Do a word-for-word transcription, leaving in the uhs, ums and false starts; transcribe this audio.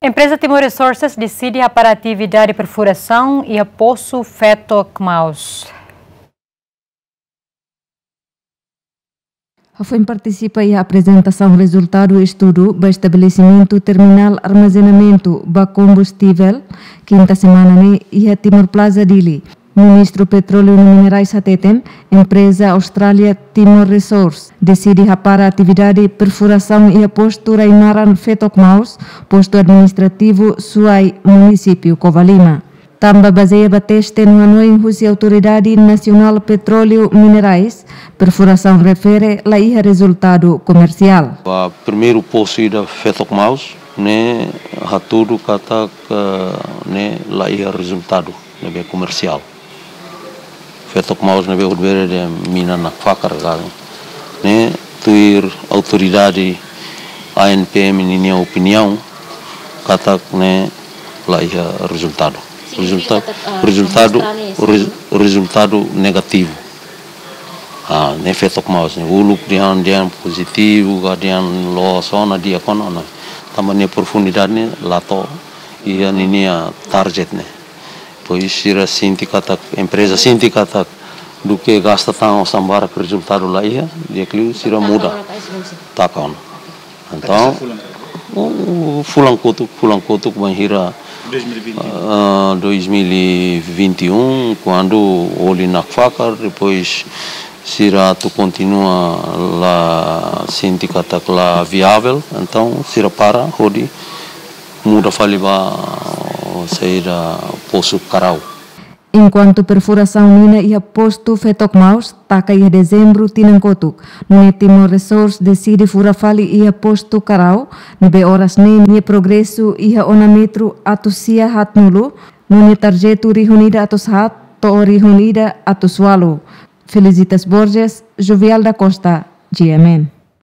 Empreza Timor Resources deside hapara atividade perfurasaun iha posu Fetok Maus. Hafoin partisipa iha aprezentasaun rezultadu estudu ba estabelesimentu terminál armazenamentu ba kombustível, kinta semana ne'e iha Timor Plaza, Dili. Ministru Petróleu no Minerais hateten, empreza Austrália Timor Resource deside hapara atividade perfurasaun iha postu rai-naran Fetok Maus, postu administrativu Suai, munisípiu Covalima. Tanba bazeia ba teste no hanoin husi Autoridade Nasionál Petróleu Minerais, perfurasaun refere la iha rezultadu komersiál. Ba primeiru posu ida Fetok Maus, ne'e hatudu katak, eh, ne'e la iha rezultadu ne'ebé komersiál. Fetok Maus ne'ebé hodi bele dehan mina nakfakar ka, ne'e tuir autoridade A N P M ninia opiniaun katak ne'e la iha rezultadu. Rezulta-, rezultadu, rez-, rezultadu negativu. Ah, ne'e Fetok Maus ne'e. Uluk dehan, dehan pozitivu, ka dehan loos ona, di'ak ona, ona. Tanba nia profundidade ne'e la to'o iha ninia target ne'e. Pois sira sente katak, empreza sente katak, duké gasta tan osan barak rezultadu la iha, di'ak liu sira muda. Taka ona. Entaun, o, o fulan kotuk, fulan kotuk bainhira, ah, dois mil e vinte e um, kuandu oli nakfakar, depois sira atu kontinua la sente katak la viável, entaun sira para hodi muda fali ba saida, posu Karau. Enkuantu perfurasaun mina iha postu Fetok Maus taka iha Dezembru tinan kotuk, nune'e Timor Resource deside fura fali iha postu Karau, ne'ebé oras ne'e nia progresu iha ona metru atus sia haatnulu, nune'e tarjetu rihun ida atus haat to'o rihun ida atus ualu. Felicitas Borges, Jovial da Costa, G M N.